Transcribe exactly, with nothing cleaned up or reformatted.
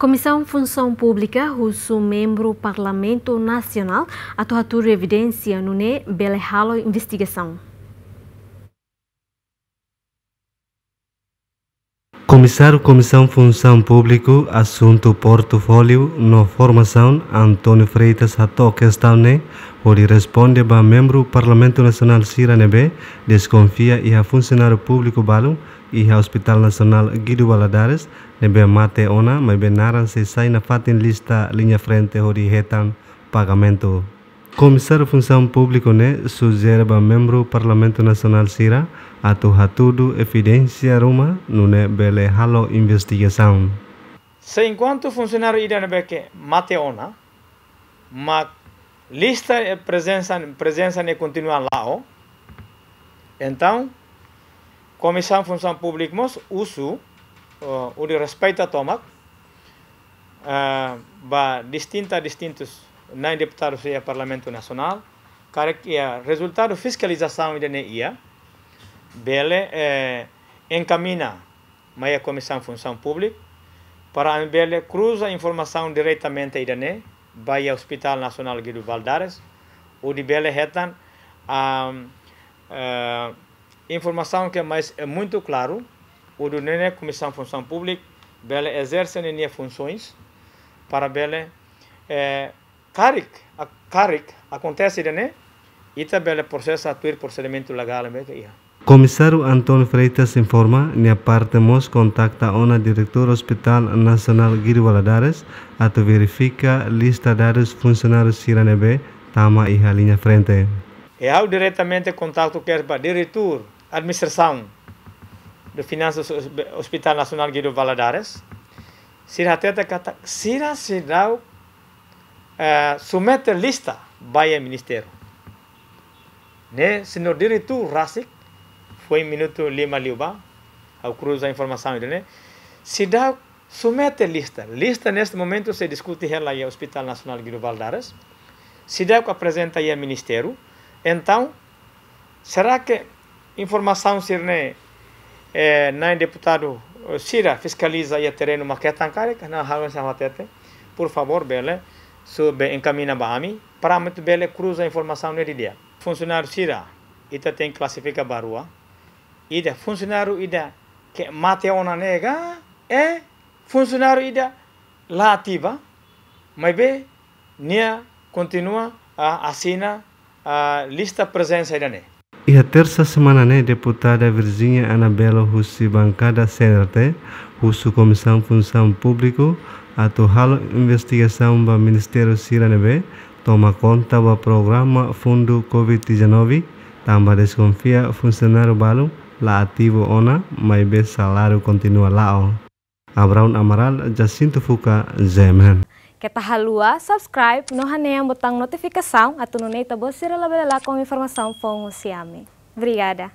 Komisaun Funsaun Públika husu membru Parlamentu Nasionál atu hatudu evidénsia nune'e bele halo investigasaun. Komisáriu Komisaun Funsaun Públika, Asuntu Portfóliu no Formasaun, António Freitas, hato'o kestaun ne'e hodi responde ba membru Parlamentu Nasionál sira ne'ebé deskonfia iha funsionáriu públiku balu iha Hospital Nasionál Guido Valadares ne'ebé mate ona, maibé naran sei sai nafatin lista liña frente hodi hetan pagamentu. Komisáriu Funsaun Públika ne'e sujere ba membru Parlamentu Nasionál sira atu hatudu evidénsia ruma nune'e bele halo investigasaun. Se enkuantu funsionáriu ida ne'ebé ke mate ona, mak lista, eh, prezensa, prezensa ne'e kontinua la'o. Entaun, Komisaun Funsaun Públika mós husu, eh, hodi respeita tomak, eh, ba distinta, distintus na'in deputadu sira Parlamentu Nasionál, karik iha rezultadu fiskalizasaun ida-ne'e iha, bele, eh, enkamiña mai iha Komisaun Funsaun Públika, para ami bele kruza informasaun diretamente ida-ne'e ba iha Hospital Nasionál Guido Valadares, hodi bele hetan, am, eh, informasaun ke mais é muito claro, hodi nune'e Komisaun Funsaun Públika bele ezerse ninia funsoens para bele, eh, karik, a-, karik akontese ida-ne'e, ita bele prosesa tuir prosedimentu legál ne'ebé ke iha. Komisáriu António Freitas informa, nia parte mós kontakta ona diretór Hospital Nasionál Guido Valadares atu verifika lista dadus funsionáriu sira ne'ebé tama iha liña frente. E ha'u diretamente kontaktu kedas ba diretór administrasaun de finansas Hos-, Hospital Nasionál Guido Valadares. Sira hatete katak sira seidauk, eh, submete lista ba iha ministériu. Ne'e, señór diretór rasik, foin minutu lima liubá, ha'u kruza informasaun ida-ne'e. Seidauk submete lista. Lista neste momento sei diskute hela iha Hospital Nasionál Guido Valadares. Seidauk aprezenta iha ministériu. Entaun, será ke informasaun sira-ne'e, eh, na'in deputadu, eh, sira fiskaliza iha terrenu mak hetan karik? Ne'e ha'u sei hatete, por favór, bele, sube enkamiña ba ami, para ami atu bele kruza informasaun ne'e didi'ak. Funsionáriu sira, ita tenke klasifika ba rua. Ida funsionáriu ida ke mate ona ne'e ka, eh, funsionáriu ida la ativa, maibé nia kontinua, ah, asina, ah, lista prezensa ida-ne'e. Iha tersa semana ne'e, deputada Virginia Anabelo husi bankada C N R T husu Komisaun Funsaun Públika atu halo investigasaun ba ministériu sira ne'ebé toma konta ba programa fundu covid dezanove, tanba deskonfia funsionáriu balu la ativu ona, maibé saláriu kontinua la'o. Abraão Amaral, Jacinto Fuca, G M N. Keta haluha subscribe no hanehan butaun notifikasaun atu nune'e ita-boot sira labele lakon informasaun foun husi ami. Obrigada.